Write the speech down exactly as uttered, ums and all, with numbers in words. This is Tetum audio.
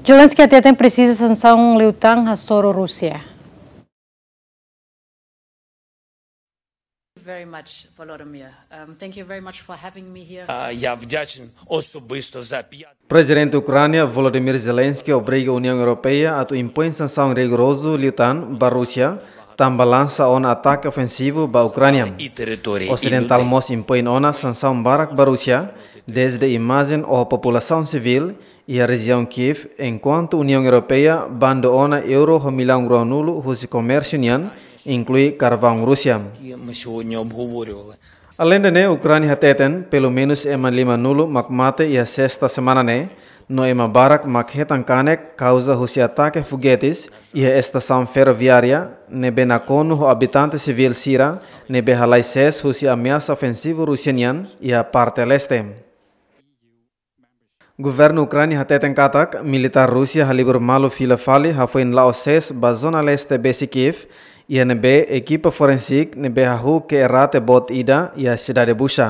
Zelensky hateten presiza sansaun liután hasoru Rúsia. Very much, Volodymyr. Um, thank you very much for having me here. Я вдячен особисто за п'ять Prezidente Ukránia Volodymyr Zelensky obriga Uniaun Europeia atu impoin sansaun rigorozu liután ba Rúsia, tanba lansa ona atake ofensivu ba Ukránia. и території. Osidentál mós impoin ona sansaun barak ba Rúsia, dezde imajen ho populasaun sivíl iha rejiaun Kiev, enkuantu Uniaun Europeia bandu ona euro ho millaun ruanulu husi komérsiu nian, inklui karvaun Rúsia. Ми сьогодні обговорювали. Aleinde ne'e, Ukránia hateten pelumenus ema limanulu mak mate iha sesta semana ne'e, no ema barak mak hetan kanek kauza husi atake fogetes iha estasaun ferroviária ne'ebé nakonu ho abitante sivíl sira ne'ebé halai sees husi ameasa ofensivu Rúsia nian iha parte leste. Governu Ukránia hateten katak militár Rúsia halibur malu fila fali hafoin la'o sees ba zona leste besi Kiev, iha ne'ebé ekipa forensik ne'ebé hahú ke'e rate boot ida iha sidade Bucha.